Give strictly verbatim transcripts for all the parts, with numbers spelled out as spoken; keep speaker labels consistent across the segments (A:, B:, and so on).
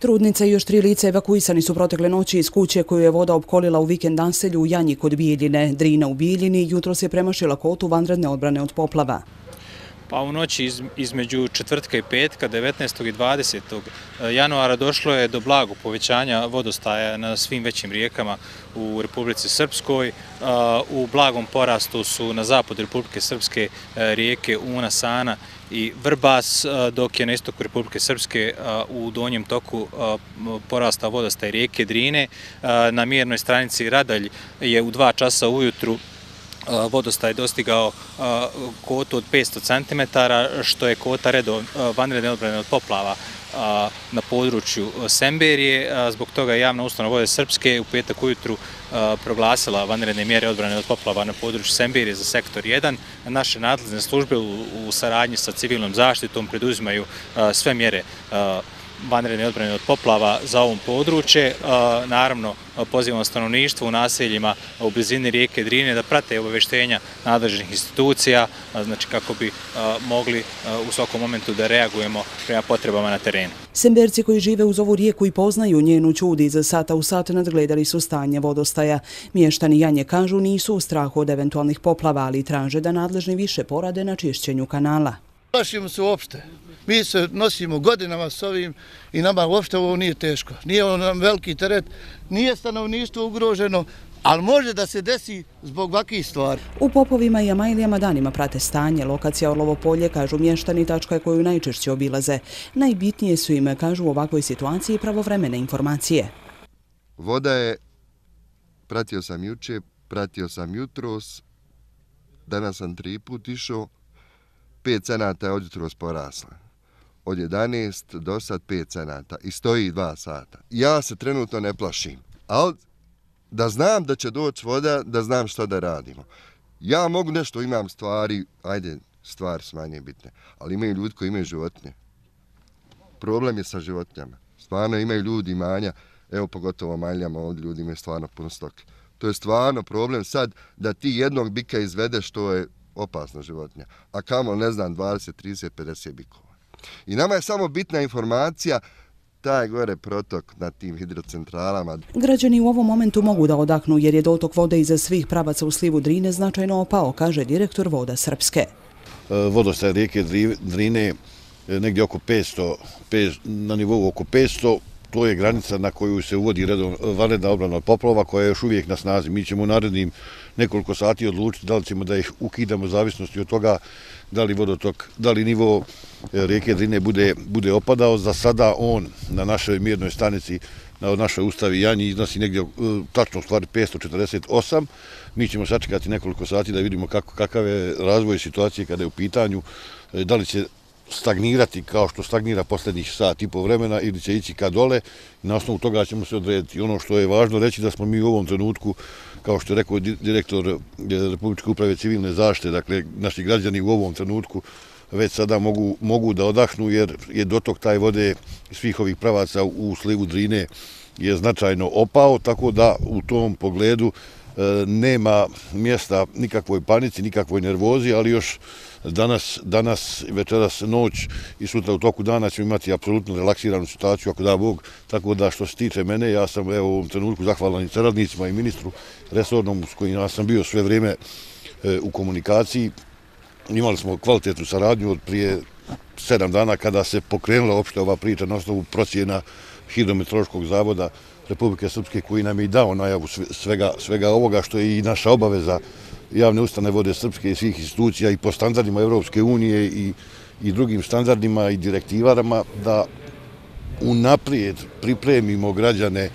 A: Trudnica i još tri lica evakuisani su protekle noći iz kuće koju je voda opkolila u vikend naselju u Janji kod Bijeljine. Drina u Bijeljini jutros je premašila kotu vanredne odbrane od poplava.
B: Pa u noći između četvrtka i petka, devetnaestog i dvadesetog januara došlo je do blagog povećanja vodostaja na svim većim rijekama u Republici Srpskoj. U blagom porastu su na zapadu Republike Srpske rijeke Una, Sana i Vrbas, dok je na istoku Republike Srpske u donjem toku porastao vodostaj rijeke Drine. Na mjernoj stranici Radalj je u dva časa ujutru vodostaj dostigao kotu od petsto centimetara, što je kota vanredne odbrane od poplava na području Semberije. Zbog toga je javna ustanova Vode Srpske u petak ujutru proglasila vanredne mjere odbrane od poplava na području Semberije za sektor jedan. Naše nadležne službe u saradnji sa civilnom zaštitom preduzimaju sve mjere vanredne odbrane od poplava za ovom područje. Naravno, pozivamo stanovništvo u naseljima u blizini rijeke Drine da prate obaveštenja nadležnih institucija, znači kako bi mogli u svakom momentu da reagujemo prema potrebama na terenu.
A: Semberci koji žive uz ovu rijeku i poznaju njenu čud iz sata u sat nadgledali su stanje vodostaja. Mještani Janje kažu nisu u strahu od eventualnih poplava, ali traže da nadležni više porade na čišćenju kanala.
C: Plašimo se uopšte. Mi se nosimo godinama s ovim i nama uopšte ovo nije teško. Nije ovo nam veliki teret, nije stanovništvo ugroženo, ali može da se desi zbog ovakvih stvari.
A: U Popovima i Amajlijama danima prate stanje. Lokacija Orlovo polje, kažu mještani, tačka je koju najčešće obilaze. Najbitnije su im, kažu u ovakvoj situaciji, pravovremene informacije.
D: Voda je, pratio sam juče, pratio sam jutros, danas sam tri put išao, pet cenata je od jutros porasla. Od jedanaest do sad pet cenata i stoji dva sata. Ja se trenutno ne plašim, ali da znam da će doći voda, da znam što da radimo. Ja mogu nešto, imam stvari, ajde, stvari su manje bitne, ali imaju ljudi koji imaju životinje. Problem je sa životinjama. Stvarno imaju ljudi imanja, evo pogotovo Majljama, ovdje ljudi imaju stvarno puno stoke. To je stvarno problem sad da ti jednog bika izvedeš, što je opasna životinja, a kamo, ne znam, dvadeset, trideset, pedeset bikova. I nama je samo bitna informacija, taj gore protok na tim hidrocentralama.
A: Građani u ovom momentu mogu da odahnu jer je dotok vode iza svih pravaca u slivu Drine značajno opao, kaže direktor Voda Srpske.
E: Vodostaj rijeke Drine negdje oko petsto, na nivou oko petsto, to je granica na koju se uvodi vanredna odbrana od poplava koja je još uvijek na snazi. Mi ćemo u narednim nekoliko sati odlučiti da li ćemo da ih ukidamo u zavisnosti od toga da li vodotok, da li nivo rijeke Drine bude, bude opadao. Za sada on na našoj mjernoj stanici, na našoj ustavi Janji iznosi negdje tačno u stvari petsto četrdeset osam. Mi ćemo sačekati nekoliko sati da vidimo kako, kakav je razvoj situacije kada je u pitanju, da li će stagnirati kao što stagnira posljednjih sat i po vremena ili će ići ka dole. Na osnovu toga ćemo se odrediti. Ono što je važno reći da smo mi u ovom trenutku, kao što je rekao direktor Republičke uprave civilne zaštite, dakle naši građani u ovom trenutku već sada mogu, mogu da odahnu jer je dotok taj vode svih ovih pravaca u slivu Drine je značajno opao, tako da u tom pogledu nema mjesta nikakvoj panici, nikakvoj nervozi, ali još danas, danas, večeras, noć i sutra u toku dana ćemo imati apsolutno relaksiranu situaciju, ako da Bog, tako da što se tiče mene, ja sam evo, u ovom trenutku zahvalan i saradnicima i ministru resornom s kojim ja sam bio sve vrijeme e, u komunikaciji. Imali smo kvalitetnu saradnju od prije sedam dana kada se pokrenula opšte ova priča na osnovu procjena Hidrometeorološkog zavoda Republike Srpske koji nam je i dao najavu svega, svega ovoga što je i naša obaveza javne ustanove Vode Srpske i svih institucija i po standardima Evropske unije i, i drugim standardima i direktivarama da unaprijed pripremimo građane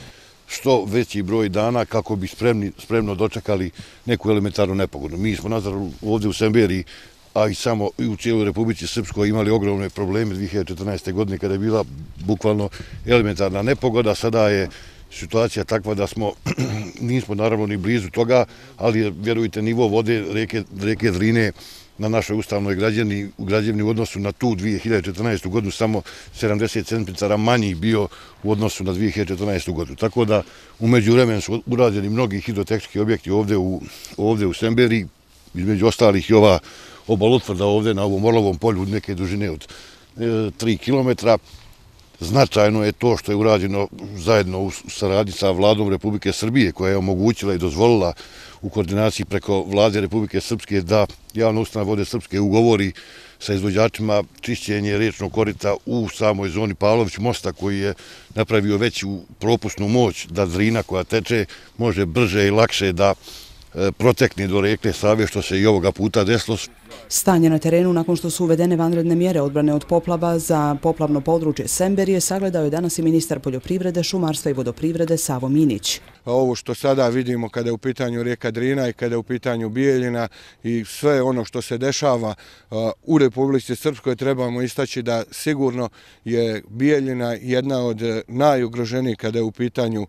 E: što veći broj dana kako bi spremni, spremno dočekali neku elementarnu nepogodu. Mi smo nazar ovdje u Semberiji, a i samo i u cijeloj Republici Srpskoj imali ogromne probleme dvije hiljade četrnaeste. godine kada je bila bukvalno elementarna nepogoda. Sada je situacija takva da smo, nismo naravno ni blizu toga, ali je, vjerujte, nivo vode reke, reke Drine na našoj ustavnoj građevni, građevni u odnosu na tu dvije hiljade četrnaestu. godinu samo sedamdeset centimetara manji bio u odnosu na dvije hiljade četrnaestu. godinu. Tako da u međuvremenu su urađeni mnogi hidrotehnički objekti ovdje u, ovdje u Semberiji, između ostalih i ova obalotvrda ovdje na ovom Orlovom polju neke dužine od e, tri kilometra. Značajno je to što je urađeno zajedno u saradnji sa vladom Republike Srbije, koja je omogućila i dozvolila u koordinaciji preko vlade Republike Srpske da javna ustanova Vode Srpske ugovori sa izvođačima čišćenje riječnog korita u samoj zoni Pavlović mosta, koji je napravio veću propusnu moć da Drina koja teče može brže i lakše da protekne do rijeke Save, što se i ovoga puta desilo.
A: Stanje na terenu nakon što su uvedene vanredne mjere odbrane od poplava za poplavno područje Semberije sagledao je danas i ministar poljoprivrede, šumarstva i vodoprivrede Savo Minić.
F: Ovo što sada vidimo kada je u pitanju rijeka Drina i kada je u pitanju Bijeljina i sve ono što se dešava u Republici Srpskoj, trebamo istaći da sigurno je Bijeljina jedna od najugroženijih kada je u pitanju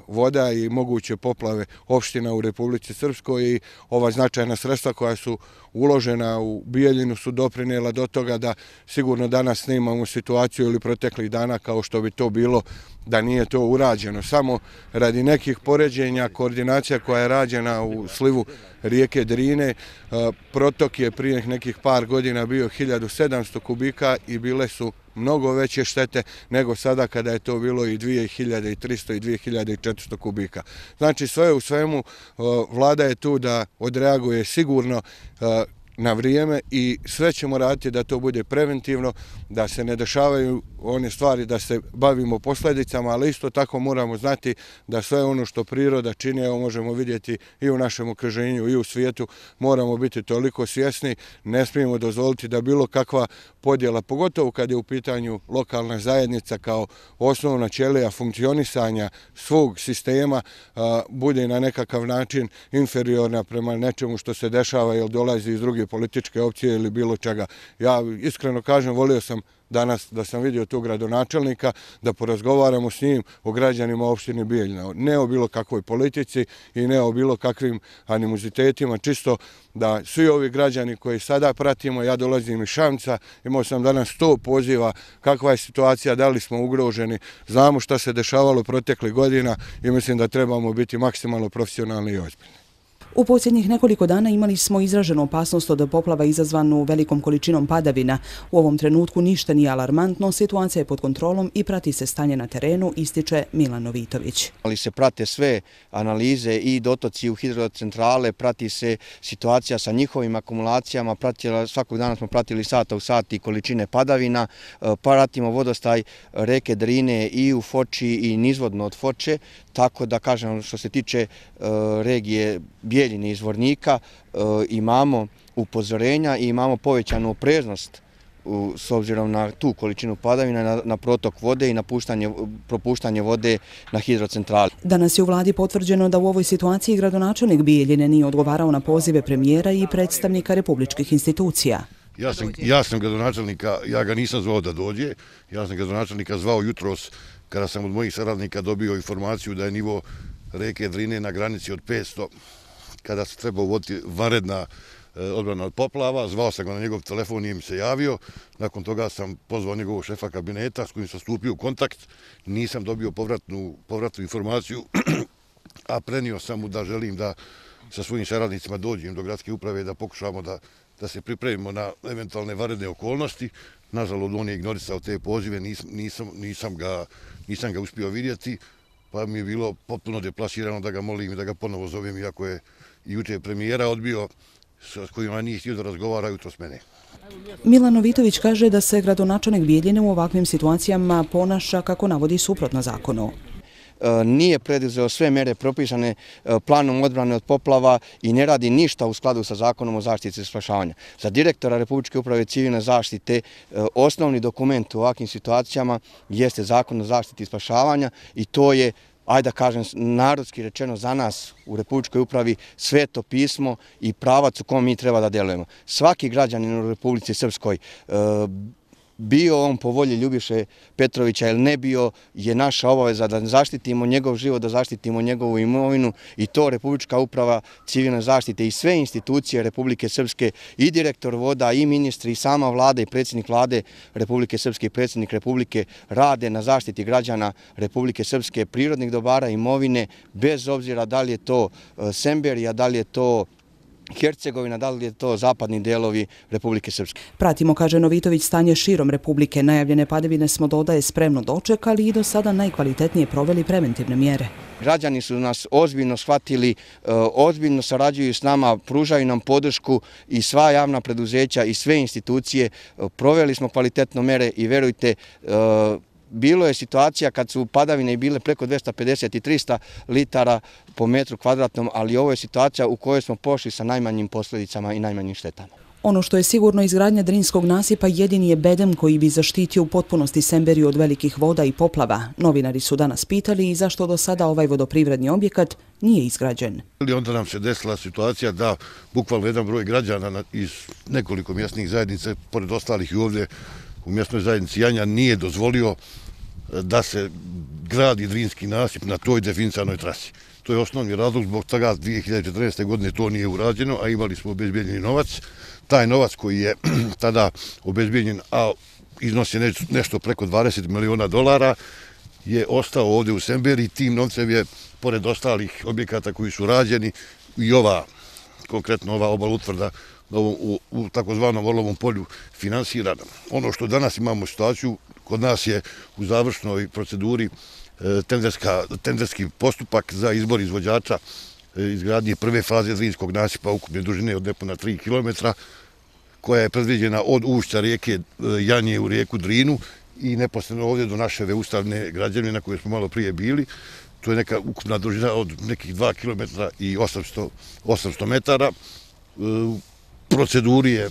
F: voda i moguće poplave opština u Republici Srpskoj, i ova značajna sredstva koja su uložena u Bijeljinu su doprinijela do toga da sigurno danas ne imamo situaciju ili proteklih dana kao što bi to bilo da nije to urađeno. Samo radi nekih poređenja, koordinacija koja je rađena u slivu rijeke Drine, protok je prije nekih par godina bio hiljadu sedamsto kubika i bile su mnogo veće štete nego sada kada je to bilo i dvije hiljade tristo i dvije hiljade četiristo kubika. Znači sve u svemu vlada je tu da odreaguje sigurno na vrijeme i sve ćemo raditi da to bude preventivno, da se ne dešavaju one stvari, da se bavimo posljedicama, ali isto tako moramo znati da sve ono što priroda čini, evo možemo vidjeti i u našem okruženju i u svijetu, moramo biti toliko svjesni, ne smijemo dozvoliti da bilo kakva podjela, pogotovo kad je u pitanju lokalna zajednica kao osnovna ćelija funkcionisanja svog sistema, bude na nekakav način inferiorna prema nečemu što se dešava ili dolazi iz druge političke opcije ili bilo čega. Ja iskreno kažem, volio sam danas da sam vidio tog gradonačelnika, da porazgovaramo s njim o građanima opštine Bijeljina. Ne o bilo kakvoj politici i ne o bilo kakvim animozitetima, čisto da svi ovi građani koji sada pratimo, ja dolazim iz Šamca, imao sam danas sto poziva kakva je situacija, da li smo ugroženi, znamo šta se dešavalo proteklih godina i mislim da trebamo biti maksimalno profesionalni i ozbiljni.
A: U posljednjih nekoliko dana imali smo izraženu opasnost od poplava izazvanu velikom količinom padavina. U ovom trenutku ništa nije alarmantno, situacija je pod kontrolom i prati se stanje na terenu, ističe Milan Novitović.
G: Ali se prate sve analize i dotoci u hidrocentrale, prati se situacija sa njihovim akumulacijama, pratila, svakog dana smo pratili sata u sat i količine padavina, pratimo vodostaj reke Drine i u Foči i nizvodno od Foče, tako da kažem što se tiče regije Bijeljine i Zvornika, imamo upozorenja i imamo povećanu opreznost s obzirom na tu količinu padavina, na protok vode i na propuštanje vode na hidrocentrali.
A: Danas je u vladi potvrđeno da u ovoj situaciji gradonačelnik Bijeljine nije odgovarao na pozive premijera i predstavnika republičkih institucija.
E: Ja sam, ja sam gradonačelnika, ja ga nisam zvao da dođe, ja sam gradonačelnika zvao jutros kada sam od mojih saradnika dobio informaciju da je nivo reke Drine na granici od petsto, kada se treba uvoditi vanredna odbrana od poplava. Zvao sam ga na njegov telefon, nije mi se javio. Nakon toga sam pozvao njegovog šefa kabineta s kojim sam stupio u kontakt. Nisam dobio povratnu, povratnu informaciju, a prenio sam mu da želim da sa svojim saradnicima dođem do gradske uprave da pokušamo da, da se pripremimo na eventualne vanredne okolnosti. Nažalost, on je ignorisao te pozive, nisam, nisam, nisam, ga, nisam ga uspio vidjeti, pa mi je bilo potpuno deplasirano da ga molim i da ga ponovo zovem, iako je juče premijera odbio, s kojima nije htio da razgovara jutro s mene.
A: Milan Novitović kaže da se gradonačelnik Bijeljine u ovakvim situacijama ponaša kako navodi suprotno zakonu.
G: Nije preduzeo sve mere propisane planom odbrane od poplava i ne radi ništa u skladu sa zakonom o zaštiti i spašavanju. Za direktora Republičke uprave civilne zaštite osnovni dokument u ovakvim situacijama jeste zakon o zaštiti i spašavanja i to je, ajde da kažem, narodski rečeno za nas u Republičkoj upravi sveto pismo i pravac u kom mi treba da delujemo. Svaki građanin u Republici Srpskoj, bio on po volji Ljubiše Petrovića ili ne bio, je naša obaveza da zaštitimo njegov život, da zaštitimo njegovu imovinu i to Republička uprava civilne zaštite i sve institucije Republike Srpske i direktor voda i ministri i sama vlada i predsjednik vlade Republike Srpske i predsjednik Republike rade na zaštiti građana Republike Srpske, prirodnih dobara, imovine, bez obzira da li je to Semberija, da li je to Hercegovina, da li je to zapadni delovi Republike Srpske.
A: Pratimo, kaže Novitović, stanje širom Republike. Najavljene padavine smo, dodaje, spremno dočekali i do sada najkvalitetnije proveli preventivne mjere.
G: Građani su nas ozbiljno shvatili, ozbiljno sarađuju s nama, pružaju nam podršku i sva javna preduzeća i sve institucije. Proveli smo kvalitetno mere i verujte, bilo je situacija kad su padavine bile preko dvesta pedeset i trista litara po metru kvadratnom, ali ovo je situacija u kojoj smo pošli sa najmanjim posljedicama i najmanjim štetama.
A: Ono što je sigurno, izgradnja Drinskog nasipa jedini je bedem koji bi zaštitio u potpunosti Semberiju od velikih voda i poplava. Novinari su danas pitali i zašto do sada ovaj vodoprivredni objekat nije izgrađen.
E: Onda nam se desila situacija da bukvalno jedan broj građana iz nekoliko mjesnih zajednica, pored ostalih i ovdje u mjesnoj zajednici Janja, nije dozvolio da se gradi Drinski nasip na toj definisanoj trasi. To je osnovni razlog, zbog toga dvije hiljade četrnaeste. godine to nije urađeno, a imali smo obezbijeđeni novac. Taj novac koji je tada obezbijeđen, a iznosi nešto preko dvadeset miliona dolara, je ostao ovdje u Semberiji. Tim novcem je, pored ostalih objekata koji su rađeni, i ova, konkretno ova obal utvrda u, u takozvanom Orlovom polju finansirana. Ono što danas imamo situaciju, kod nas je u završnoj proceduri tenderski postupak za izbor izvođača izgradnje prve faze Drinskog nasipa ukupne dužine od nepuna tri kilometra, koja je predviđena od ušća rijeke Janje u rijeku Drinu i neposredno ovdje do naše ustavne građevine na kojoj smo malo prije bili. To je neka ukupna dužina od nekih dva kilometra i osamsto metara. U proceduri je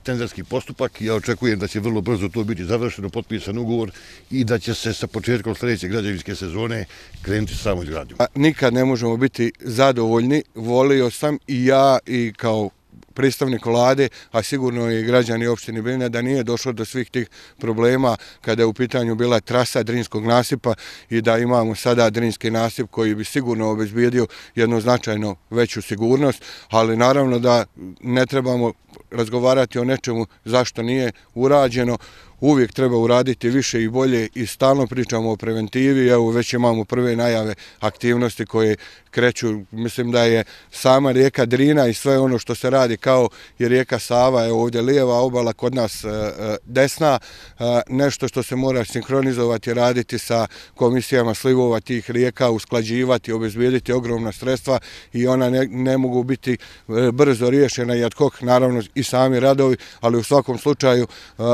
E: tenderski postupak i ja očekujem da će vrlo brzo to biti završeno, potpisan ugovor i da će se sa početkom sljedeće građevinske sezone krenuti samo izgradnjom.
F: Nikad ne možemo biti zadovoljni. Volio sam i ja i kao predstavnik vlade, a sigurno i građani opštine Bijeljina, da nije došlo do svih tih problema kada je u pitanju bila trasa Drinskog nasipa i da imamo sada Drinski nasip koji bi sigurno obezbijedio jednu značajno veću sigurnost, ali naravno da ne trebamo razgovarati o nečemu zašto nije urađeno. Uvijek treba uraditi više i bolje i stalno pričamo o preventivi. Evo, već imamo prve najave aktivnosti koje kreću. Mislim da je sama rijeka Drina i sve ono što se radi kao i rijeka Sava, je ovdje lijeva obala, kod nas desna, nešto što se mora sinkronizovati, raditi sa komisijama slivova tih rijeka, usklađivati, obezbijediti ogromna sredstva i ona ne, ne mogu biti brzo riješena i ad hoc, naravno i sami radovi, ali u svakom slučaju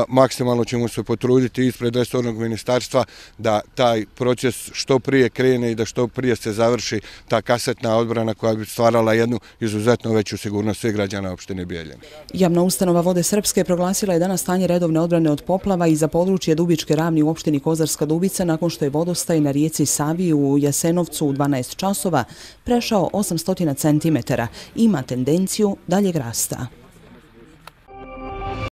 F: maksimalno ćemo se potruditi ispred resornog ministarstva da taj proces što prije krene i da što prije se završi ta kasetna odbrana koja bi stvarala jednu izuzetno veću sigurnost svih građana opštine Bijeljina.
A: Javna ustanova Vode Srpske proglasila je danas stanje redovne odbrane od poplava i za područje Dubičke ravni u opštini Kozarska Dubica nakon što je vodostaj na rijeci Savi u Jasenovcu u dvanaest časova prešao osamsto centimetara. Ima tendenciju daljeg rasta.